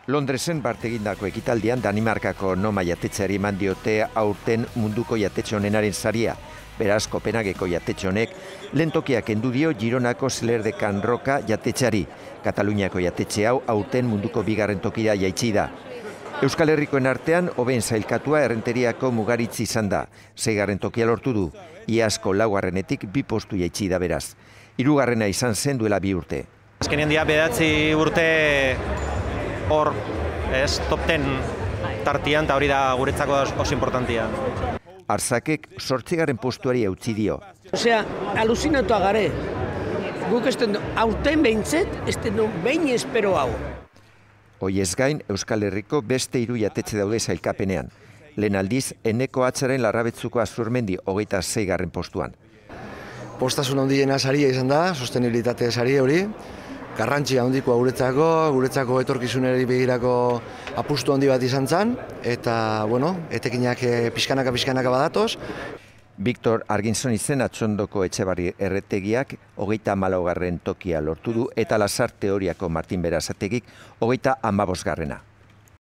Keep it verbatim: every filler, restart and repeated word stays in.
Londresen bartegindako ekitaldian Danimarkako Noma jatetxeari eman diote aurten munduko jatetxe onenaren saria. Beraz, Kopenhageko jatetxe honek lentokiak kendu dio Gironako Celler de Can Roca jatetxeari. Kataluniako jatetxe hau aurten munduko bigarren tokira jaitsi da. Euskal Herrikoen artean hobeen sailkatua Errenteriako Mugaritz izan da. Seigarren tokia lortu du. Iazko laugarrenetik bi postu jaitsi da beraz. Hirugarrena izan zen duela bi urte. Azkenean dira bederatzi urte hor, ez, top ten tartian, eta hori da guretzako oso importantia. Arzakek zortzigarren postuari eutzi dio. Osea, aluzinatuak gare. Guk ez den aurten behintzet, ez den behin espero hau. Hoiez gain, Euskal Herriko beste hiru jatetxe daude sailkapenean. Lehen aldiz, Eneko Atzaren Larrabetzuko Azurmendi hogeita seigarren postuan. Postasun handiena saria izan da, sostenibilitate saria hori. Garrantzia handikoa guretzako, guretzako etorkizunari begirako apustu handi bat izan zen, eta, bueno, etekinak pixkanaka-pixkanaka badatoz. Victor Arginson izen Atxondoko Etxebarri erretegiak hogeita hamalaugarren tokia lortu du, eta Lasar Teoriako Martin Berasategik hogeita hamabosgarrena.